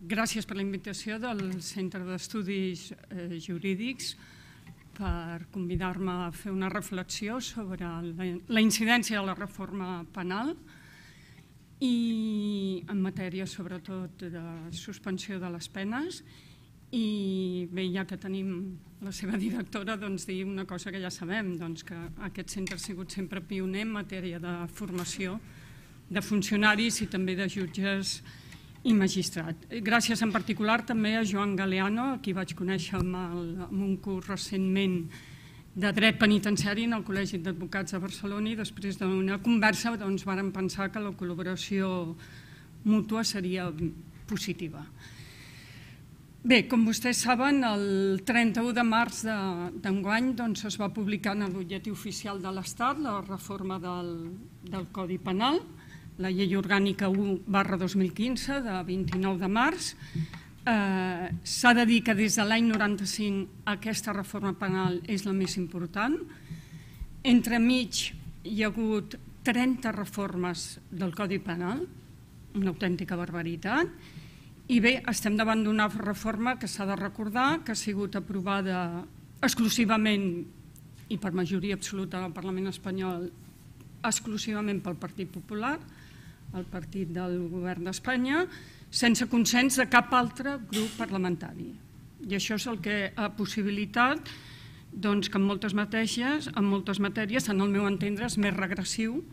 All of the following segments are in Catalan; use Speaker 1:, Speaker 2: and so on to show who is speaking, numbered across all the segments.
Speaker 1: Gràcies per la invitació del Centre d'Estudis Jurídics per convidar-me a fer una reflexió sobre la incidència de la reforma penal i en matèria sobretot de suspensió de les penes. I bé, ja que tenim la seva directora, dir una cosa que ja sabem, que aquest centre ha sigut sempre pioner en matèria de formació de funcionaris i també de jutges i magistrats. Gràcies en particular també a Joan Galeano, a qui vaig conèixer en un curs recentment de dret penitenciari en el Col·legi d'Advocats de Barcelona, i després d'una conversa vàrem pensar que la col·laboració mútua seria positiva. Bé, com vostès saben, el 31 de març d'enguany es va publicar en el butlletí oficial de l'Estat la reforma del Codi Penal, la Llei Orgànica 1/2015 de 29 de març. S'ha de dir que des de l'any 95 aquesta reforma penal és la més important. Entremig hi ha hagut 30 reformes del Codi Penal, una autèntica barbaritat. I bé, estem davant d'una reforma que s'ha de recordar que ha sigut aprovada exclusivament i per majoria absoluta del Parlament espanyol, exclusivament pel Partit Popular, el partit del govern d'Espanya, sense consens de cap altre grup parlamentari. I això és el que ha possibilitat que en moltes matèries, en el meu entendre, és més regressiu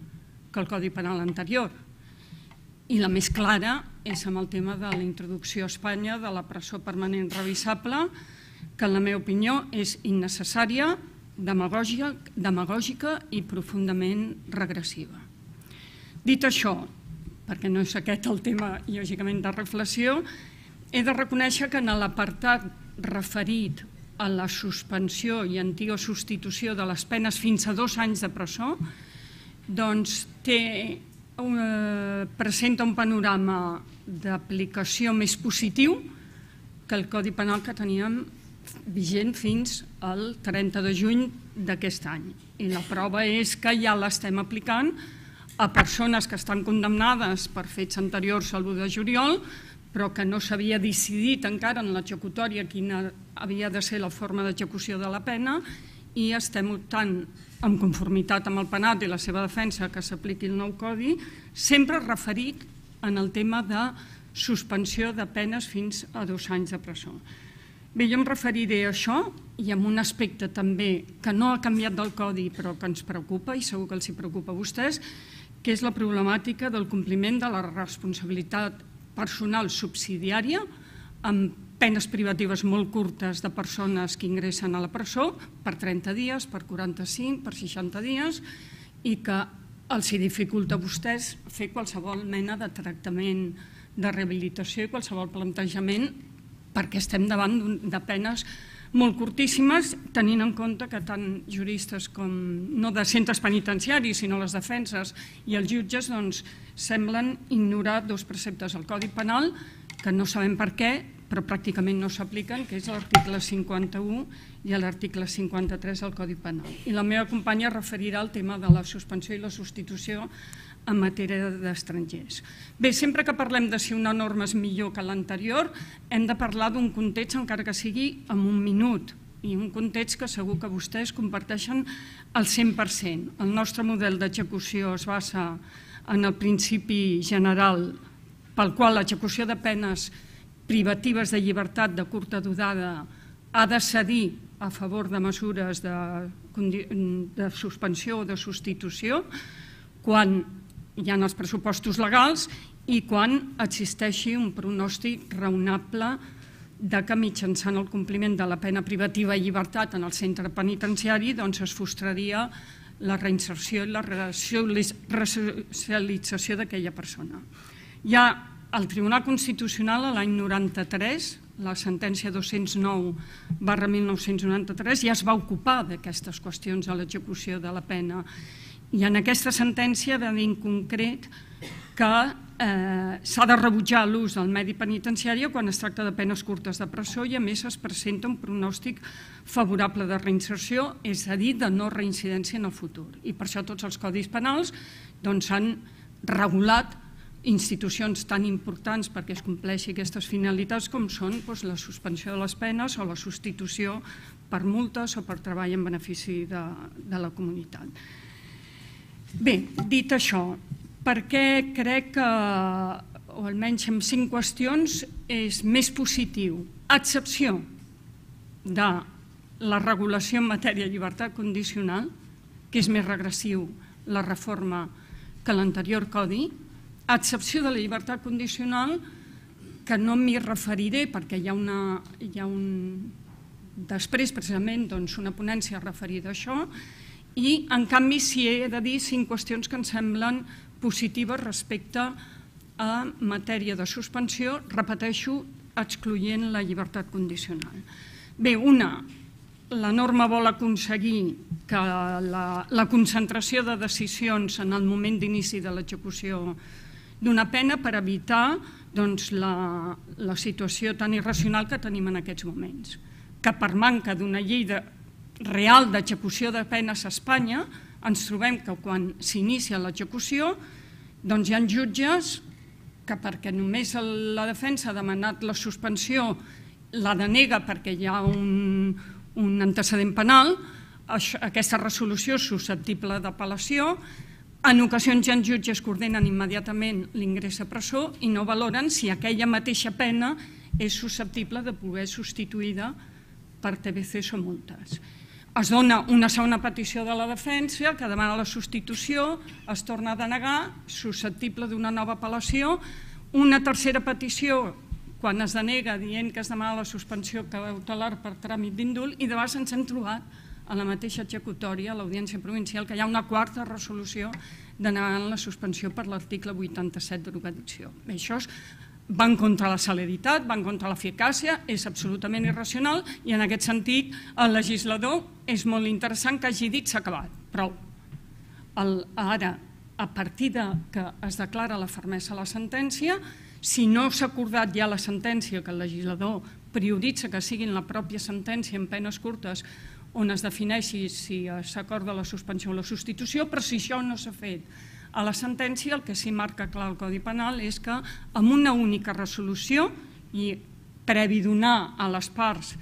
Speaker 1: que el Codi Penal anterior. I la més clara és amb el tema de la introducció a Espanya de la presó permanent revisable, que en la meva opinió és innecessària, demagògica i profundament regressiva. Dit això, perquè no és aquest el tema, lògicament, de reflexió, he de reconèixer que en l'apartat referit a la suspensió i antiga substitució de les penes fins a 2 anys de presó, presenta un panorama d'aplicació més positiu que el Codi Penal que teníem vigent fins al 30 de juny d'aquest any. I la prova és que ja l'estem aplicant a persones que estan condemnades per fets anteriors a l'1 de juliol, però que no s'havia decidit encara en l'executòria quina havia de ser la forma d'execució de la pena, i estem optant, en conformitat amb el penat i la seva defensa, que s'apliqui el nou codi, sempre referit en el tema de suspensió de penes fins a 2 anys de presó. Bé, jo em referiré a això i a un aspecte també que no ha canviat del codi però que ens preocupa, i segur que els preocupa a vostès, que és la problemàtica del compliment de la responsabilitat personal subsidiària amb penes privatives molt curtes de persones que ingressen a la presó per 30 dies, per 45, per 60 dies, i que els dificulta a vostès fer qualsevol mena de tractament de rehabilitació i qualsevol plantejament, perquè estem davant de penes molt curtíssimes, tenint en compte que tant juristes com no de centres penitenciaris, sinó les defenses i els jutges semblen ignorar 2 preceptes del Codi Penal que no sabem per què, però pràcticament no s'apliquen, que és l'article 51 i l'article 53 del Codi Penal. I la meva companya referirà al tema de la suspensió i la substitució en matèria d'estrangers. Bé, sempre que parlem de si una norma és millor que l'anterior, hem de parlar d'un context, encara que sigui en 1 minut, i un context que segur que vostès comparteixen al 100%. El nostre model d'execució es basa en el principi general pel qual l'execució de penes privatives de llibertat de curta durada ha de cedir a favor de mesures de suspensió o de substitució quan hi ha els pressupostos legals i quan existeixi un pronòstic raonable que mitjançant el compliment de la pena privativa de llibertat en el centre penitenciari es frustraria la reinserció i la resocialització d'aquella persona. Ja el Tribunal Constitucional, l'any 93, la sentència 209/1993, ja es va ocupar d'aquestes qüestions de l'execució de la pena. I en aquesta sentència va dir en concret que s'ha de rebutjar l'ús del medi penitenciari quan es tracta de penes curtes de presó i a més es presenta un pronòstic favorable de reinserció, és a dir, de no reincidència en el futur. I per això tots els codis penals s'han regulat institucions tan importants perquè es compleixi aquestes finalitats com són la suspensió de les penes o la substitució per multes o per treball en benefici de la comunitat. Bé, dit això, per què crec que, o almenys en 5 qüestions, és més positiu, a excepció de la regulació en matèria de llibertat condicional, que és més regressiu la reforma que l'anterior codi, a excepció de la llibertat condicional, que no m'hi referiré perquè hi ha després precisament una ponència referida a això, i en canvi sí he de dir 5 qüestions que em semblen positives respecte a matèria de suspensió, repeteixo, excloent la llibertat condicional. Bé, la norma vol aconseguir que la concentració de decisions en el moment d'inici de l'execució d'una pena per evitar la situació tan irracional que tenim en aquests moments, que per manca d'una llei real d'execució de penes a Espanya ens trobem que quan s'inicia l'execució hi ha jutges que perquè només la defensa ha demanat la suspensió la denega perquè hi ha un antecedent penal, aquesta resolució és susceptible d'apel·lació. En ocasions hi ha jutges que ordenen immediatament l'ingrés a presó i no valoren si aquella mateixa pena és susceptible de poder substituïda per TBCs o multes. Es dona una segona petició de la defensa que demana la substitució, es torna a denegar, susceptible d'una nova apel·lació, una tercera petició quan es denega dient que es demana la suspensió cautelar per tràmit d'indult i de vegades ens hem trobat a la mateixa executòria, a l'Audiència Provincial, que hi ha una quarta resolució denegant la suspensió per l'article 87 derogació. Això va en contra de la celeritat, va en contra de l'eficàcia, és absolutament irracional i en aquest sentit el legislador és molt interessant que hagi dit s'ha acabat, prou. Ara, a partir que es declara la fermesa a la sentència, si no s'ha acordat ja la sentència, que el legislador prioritza que siguin la pròpia sentència en penes curtes on es defineixi si s'acorda la suspensió o la substitució, però si això no s'ha fet a la sentència, el que sí marca clar el Codi Penal és que amb una única resolució i previ donar a les parts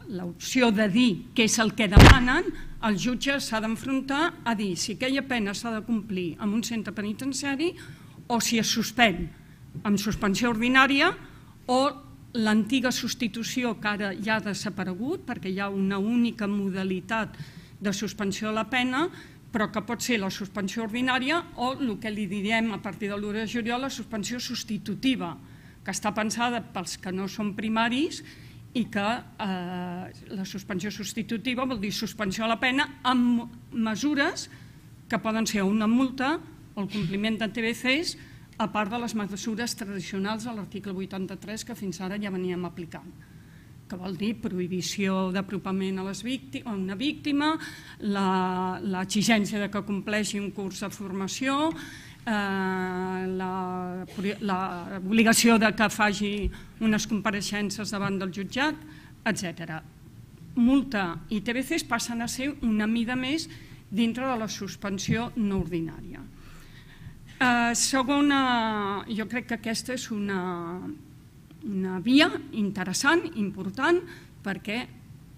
Speaker 1: l'opció de dir què és el que demanen, el jutge s'ha d'enfrontar a dir si aquella pena s'ha de complir en un centre penitenciari o si es suspèn amb suspensió ordinària o l'antiga substitució que ara ja ha desaparegut perquè hi ha una única modalitat de suspensió de la pena, però que pot ser la suspensió ordinària o el que li direm a partir de l'1 de juliol la suspensió substitutiva, que està pensada pels que no són primaris i que la suspensió substitutiva vol dir suspensió de la pena amb mesures que poden ser una multa o el compliment de TBCs, a part de les mesures tradicionals de l'article 83 que fins ara ja veníem aplicant, que vol dir prohibició d'apropament a una víctima, l'exigència que compleixi un curs de formació, l'obligació que faci unes compareixences davant del jutjat, etc. Multa i TBCs passen a ser una mida més dintre de la suspensió no ordinària. Segona, jo crec que aquesta és una via interessant, important, perquè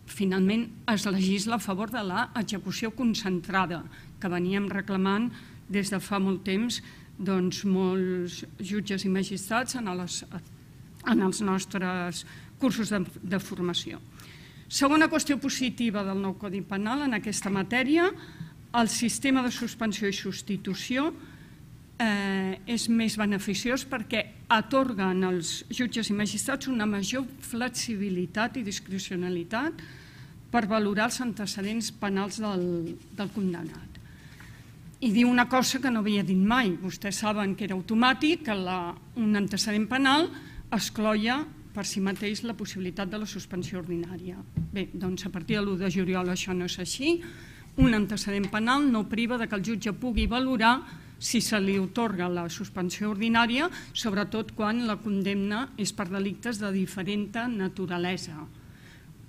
Speaker 1: finalment es legisla a favor de l'execució concentrada que veníem reclamant des de fa molt temps molts jutges i magistrats en els nostres cursos de formació. Segona qüestió positiva del nou Codi Penal en aquesta matèria, el sistema de suspensió i substitució és més beneficiós perquè atorguen als jutges i magistrats una major flexibilitat i discrecionalitat per valorar els antecedents penals del condemnat. I diu una cosa que no havia dit mai. Vostès saben que era automàtic, que un antecedent penal excloia per si mateix la possibilitat de la suspensió ordinària. Bé, doncs a partir de l'1 de juliol això no és així. Un antecedent penal no priva que el jutge pugui valorar si se li atorga la suspensió ordinària, sobretot quan la condemna és per delictes de diferent naturalesa.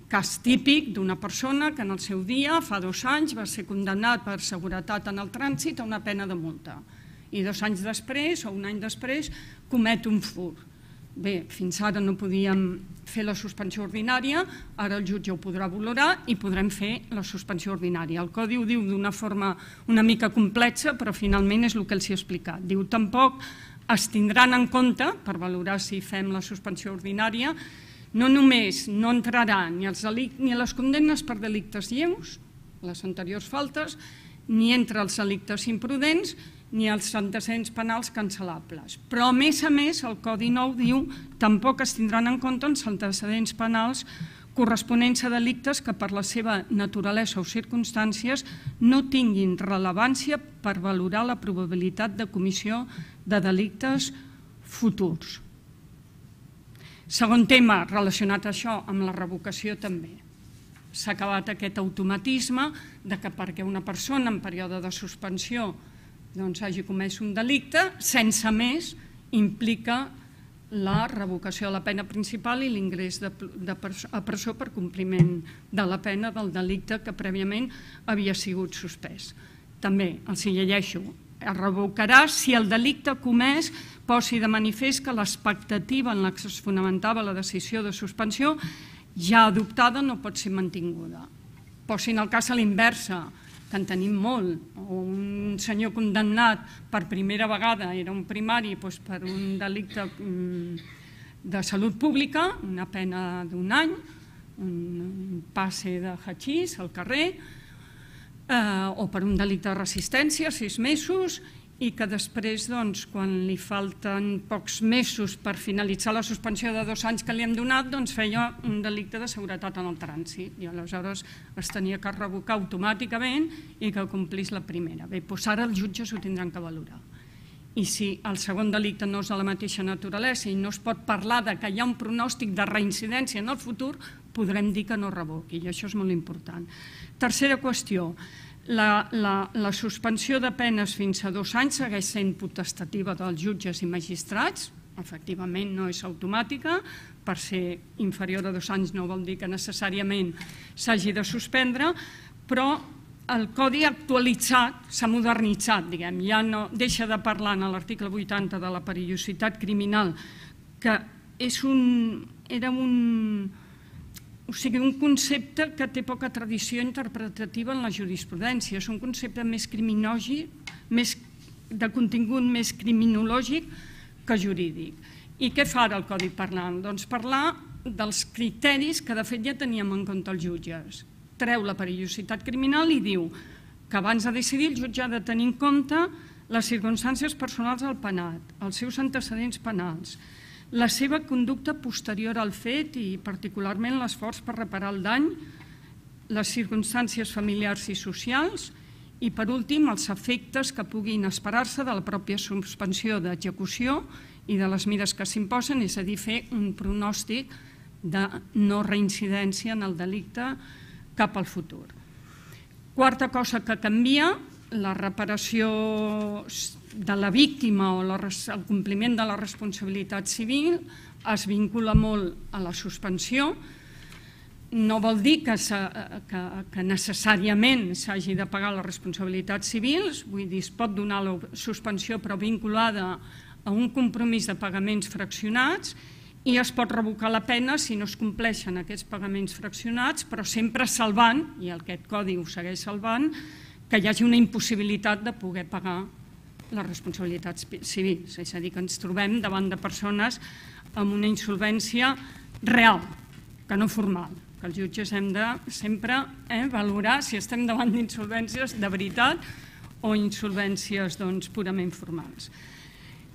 Speaker 1: Cas típic d'una persona que en el seu dia, fa 2 anys, va ser condemnat per seguretat en el trànsit a una pena de multa. i 2 anys després o 1 any després comet un furt. Bé, fins ara no podíem fer la suspensió ordinària, ara el jutge ho podrà valorar i podrem fer la suspensió ordinària. El Codi ho diu d'una forma una mica complexa, però finalment és el que els he explicat. Diu, tampoc es tindran en compte, per valorar si fem la suspensió ordinària, no només no entraran ni les condemnes per delictes lleus, les anteriors faltes, ni entre els delictes imprudents, ni els antecedents penals cancel·lables. Però, a més, el Codi Nou diu tampoc es tindran en compte els antecedents penals corresponents a delictes que per la seva naturalesa o circumstàncies no tinguin rellevància per valorar la probabilitat de comissió de delictes futurs. Segon tema relacionat a això, amb la revocació també. S'ha acabat aquest automatisme de que perquè una persona en període de suspensió hagi comès un delicte, sense més implica la revocació de la pena principal i l'ingrés a presó per compliment de la pena del delicte que prèviament havia sigut suspès. També, els hi llegeixo, es revocarà si el delicte comès posi de manifest que l'expectativa en la que es fonamentava la decisió de suspensió ja adoptada no pot ser mantinguda. Posin el cas a l'inversa, que en tenim molt, o un senyor condemnat per primera vegada, era un primari per un delicte de salut pública, una pena d'1 any, un passe de hachís al carrer, o per un delicte de resistència, 6 mesos, i que després, quan li falten pocs mesos per finalitzar la suspensió de 2 anys que li hem donat, feia un delicte de seguretat en el trànsit i aleshores es tenia que revocar automàticament i que complís la primera. Bé, doncs ara els jutges ho tindran que valorar. I si el segon delicte no és de la mateixa naturalesa i no es pot parlar que hi ha un pronòstic de reincidència en el futur, podrem dir que no revoqui, i això és molt important. Tercera qüestió. La suspensió de penes fins a 2 anys segueix sent potestativa dels jutges i magistrats, efectivament no és automàtica, per ser inferior a 2 anys no vol dir que necessàriament s'hagi de suspendre, però el Codi actualitzat s'ha modernitzat, diguem, ja no deixa de parlar en l'article 80 de la perillositat criminal, que era un concepte que té poca tradició interpretativa en la jurisprudència. És un concepte més criminològic, de contingut més criminològic que jurídic. I què fa ara el Codi Penal? Doncs parlar dels criteris que de fet ja teníem en compte els jutges. Treu la perillositat criminal i diu que abans de decidir el jutge ha de tenir en compte les circumstàncies personals del penat, els seus antecedents penals, la seva conducta posterior al fet i particularment l'esforç per reparar el dany, les circumstàncies familiars i socials i, per últim, els efectes que puguin esperar-se de la pròpia suspensió d'execució i de les mesures que s'imposen, és a dir, fer un pronòstic de no reincidència en el delicte cap al futur. Quarta cosa que canvia, la reparació de la víctima o el compliment de la responsabilitat civil es vincula molt a la suspensió. No vol dir que necessàriament s'hagi de pagar les responsabilitats civils, vull dir, es pot donar la suspensió però vinculada a un compromís de pagaments fraccionats i es pot revocar la pena si no es compleixen aquests pagaments fraccionats, però sempre salvant, i aquest codi ho segueix salvant, que hi hagi una impossibilitat de poder pagar les responsabilitats civils. És a dir, que ens trobem davant de persones amb una insolvència real, que no formal, que els jutges hem de sempre valorar si estem davant d'insolvències de veritat o insolvències purament formals.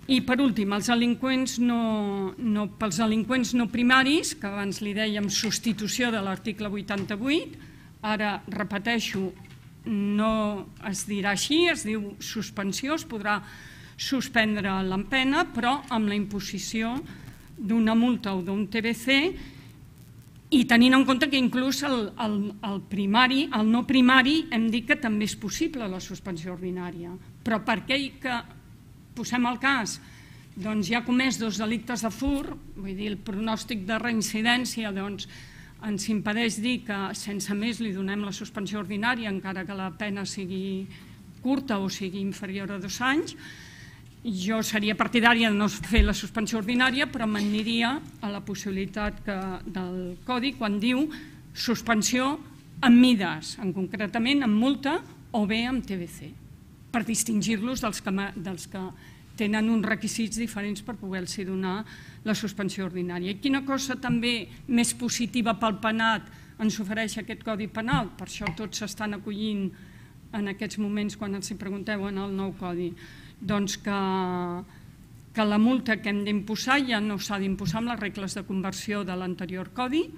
Speaker 1: I per últim, pels delinqüents no primaris, que abans li dèiem substitució de l'article 88, ara repeteixo, no es dirà així, es diu suspensió, es podrà suspendre la pena, però amb la imposició d'una multa o d'un TBC i tenint en compte que inclús el no primari hem dit que també és possible la suspensió ordinària, però per aquell que, posem el cas, doncs ja ha comès 2 delictes de furt, vull dir, el pronòstic de reincidència ens impedeix dir que sense més li donem la suspensió ordinària encara que la pena sigui curta o sigui inferior a 2 anys, jo seria partidària de no fer la suspensió ordinària, però m'aniria a la possibilitat del Codi quan diu suspensió amb mides, concretament amb multa o bé amb TBC, per distingir-los dels que tenen uns requisits diferents per poder-los donar la suspensió ordinària. I quina cosa també més positiva pel penat ens ofereix aquest Codi Penal? Per això tots s'estan acollint en aquests moments quan els pregunteu en el nou Codi. Doncs que la multa que hem d'imposar ja no s'ha d'imposar amb les regles de conversió de l'anterior Codi,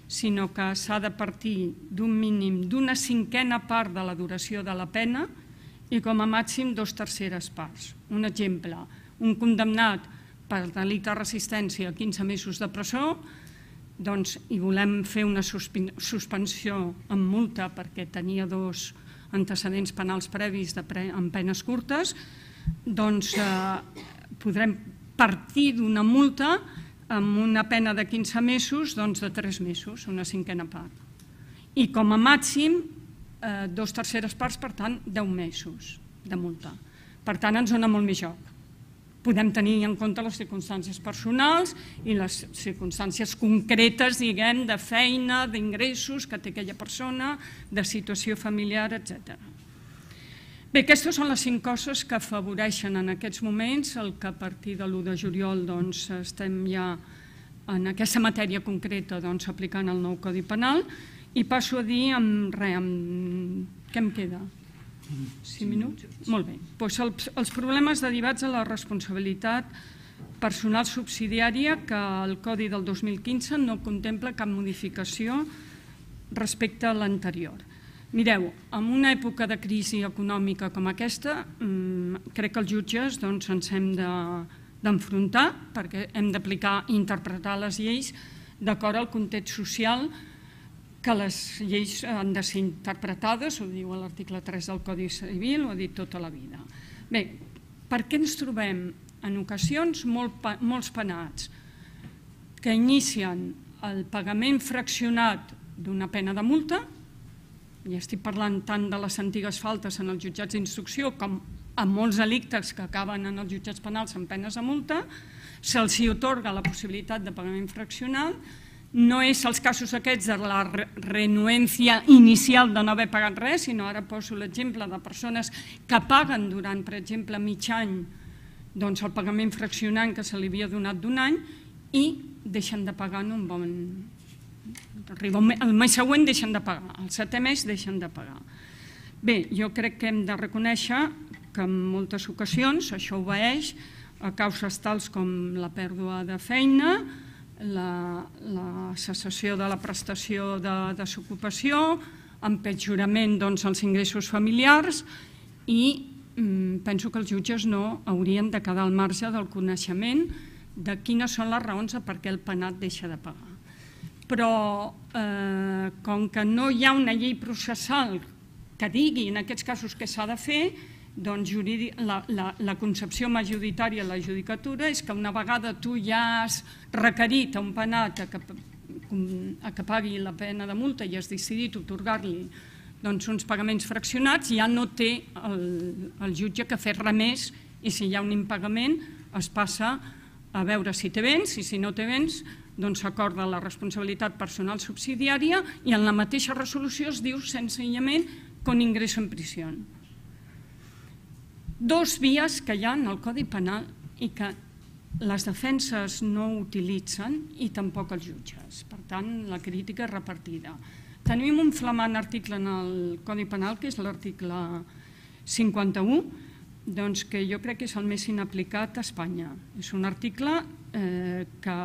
Speaker 1: sinó que s'ha de partir d'un mínim d'una cinquena part de la duració de la pena i com a màxim 2/3 parts. Un exemple, un condemnat per delicte de resistència a 15 mesos de presó, doncs, i volem fer una suspensió amb multa perquè tenia 2 antecedents penals previs amb penes curtes, doncs podrem partir d'una multa amb una pena de 15 mesos de 3 mesos, una cinquena part. I com a màxim 2/3 parts, per tant, 10 mesos de multa. Per tant, ens dona molt més joc. Podem tenir en compte les circumstàncies personals i les circumstàncies concretes, diguem, de feina, d'ingressos que té aquella persona, de situació familiar, etc. Bé, aquestes són les 5 coses que afavoreixen en aquests moments el que a partir de l'1 de juliol estem ja en aquesta matèria concreta aplicant el nou Codi Penal. I passo a dir què em queda? 5 minuts? Molt bé. Els problemes derivats de la responsabilitat personal subsidiària, que el Codi del 2015 no contempla cap modificació respecte a l'anterior. Mireu, en una època de crisi econòmica com aquesta, crec que els jutges ens hem d'enfrontar perquè hem d'aplicar i interpretar les lleis d'acord al context social, que les lleis han de ser interpretades, ho diu l'article 3 del Codi Civil, ho ha dit tota la vida. Bé, per què ens trobem en ocasions molts penats que inicien el pagament fraccionat d'una pena de multa, i estic parlant tant de les antigues faltes en els jutjats d'instrucció com en molts delictes que acaben en els jutjats penals amb penes de multa, se'ls atorga la possibilitat de pagament fraccional. No és els casos aquests de la renuència inicial de no haver pagat res, sinó ara poso l'exemple de persones que paguen durant, per exemple, mig any el pagament fraccionant que se li havia donat d'un any i deixen de pagar en un bon... El mes següent deixen de pagar, el 7è mes deixen de pagar. Bé, jo crec que hem de reconèixer que en moltes ocasions això obeeix a causes tals com la pèrdua de feina, la cessació de la prestació de desocupació, empitjorament dels ingressos familiars i penso que els jutges no haurien de quedar al marge del coneixement de quines són les raons per què el penat deixa de pagar. Però com que no hi ha una llei processal que digui en aquests casos què s'ha de fer, doncs la concepció majoritària de la judicatura és que una vegada tu ja has requerit a un penat que pagui la pena de multa i has decidit atorgar-li uns pagaments fraccionats, ja no té el jutge que fer res més i si hi ha un impagament es passa a veure si té béns i si no té béns s'acorda la responsabilitat personal subsidiària i en la mateixa resolució es diu senzillament con ingreso en prisión. 2 vies que hi ha en el Codi Penal i que les defenses no utilitzen i tampoc els jutges. Per tant, la crítica és repartida. Tenim un flamant article en el Codi Penal, que és l'article 51, que jo crec que és el més inaplicat a Espanya. És un article que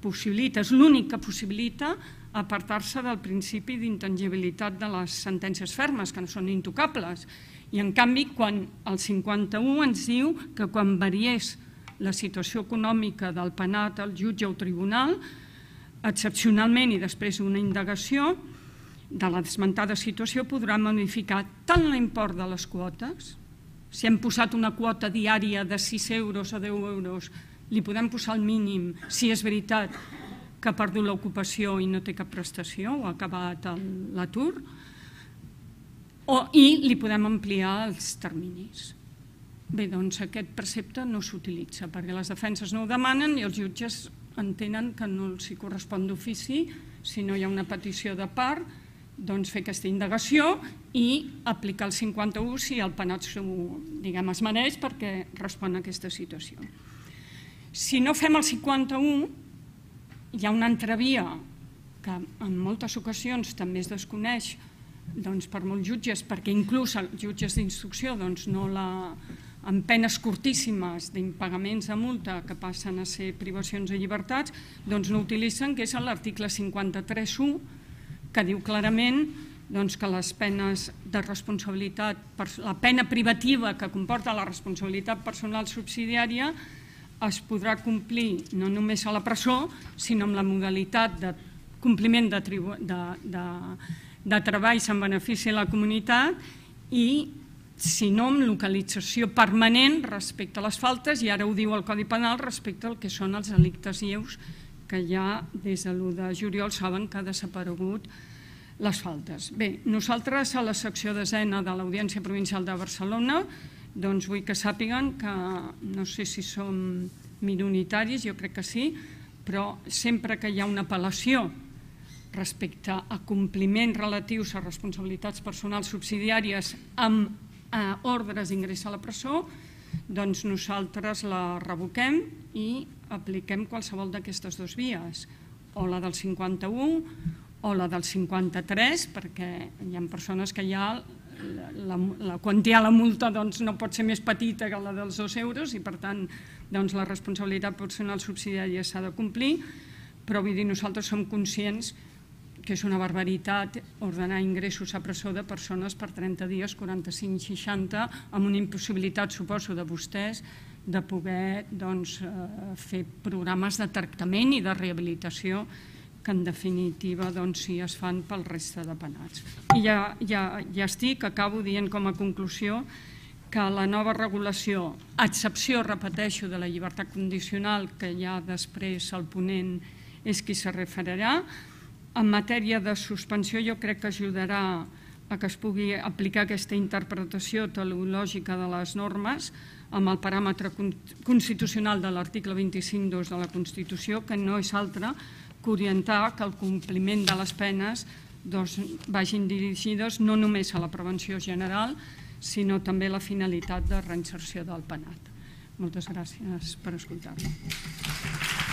Speaker 1: possibilita, és l'únic que possibilita apartar-se del principi d'intangibilitat de les sentències fermes, que no són intocables. I en canvi, quan el 51 ens diu que quan variés la situació econòmica del penat al jutge o tribunal, excepcionalment i després d'una indagació de la desmentada situació podrà modificar tant l'import de les quotes, si hem posat una quota diària de 6 euros o 10 euros, li podem posar el mínim si és veritat que ha perdut l'ocupació i no té cap prestació o ha acabat l'atur, i li podem ampliar els terminis. Bé, doncs aquest precepte no s'utilitza perquè les defenses no ho demanen i els jutges entenen que no els correspon d'ofici, si no hi ha una petició de part, doncs fer aquesta indagació i aplicar el 51 si el penat es mereix perquè respon a aquesta situació. Si no fem el 51, hi ha una altra via que en moltes ocasions també es desconeix per molts jutges, perquè inclús els jutges d'instrucció amb penes curtíssimes d'impagaments de multa que passen a ser privacions de llibertats, doncs no utilitzen, que és l'article 53.1, que diu clarament que les penes de responsabilitat, la pena privativa que comporta la responsabilitat personal subsidiària es podrà complir no només a la presó, sinó amb la modalitat de compliment de treballs en benefici de la comunitat i, si no, amb localització permanent respecte a les faltes, i ara ho diu el Codi Penal respecte al que són els delictes lleus, que ja des de l'1 de juliol saben que ha desaparegut les faltes. Bé, nosaltres a la secció 10ª de l'Audiència Provincial de Barcelona doncs vull que sàpiguen que, no sé si som minoritaris, jo crec que sí, però sempre que hi ha una apel·lació respecte a compliments relatius a responsabilitats personals subsidiàries amb ordres d'ingrés a la presó, doncs nosaltres la revoquem i apliquem qualsevol d'aquestes dues vies, o la del 51 o la del 53, perquè hi ha persones que ja la quantia de la multa no pot ser més petita que la dels 2 euros i per tant la responsabilitat personal subsidiària s'ha de complir, però vull dir, nosaltres som conscients que és una barbaritat ordenar ingressos a presó de persones per 30 dies, 45, 60, amb una impossibilitat, suposo, de vostès de poder fer programes de tractament i de rehabilitació que en definitiva sí es fan pel resta de penats. I ja estic, acabo dient com a conclusió que la nova regulació, a excepció, repeteixo, de la llibertat condicional, que ja després el ponent és qui se referirà, en matèria de suspensió jo crec que ajudarà a que es pugui aplicar aquesta interpretació teleològica de les normes amb el paràmetre constitucional de l'article 25.2 de la Constitució, que no és altre que orientar que el compliment de les penes vagin dirigides no només a la prevenció general, sinó també a la finalitat de reinserció del penat. Moltes gràcies per escoltar-me.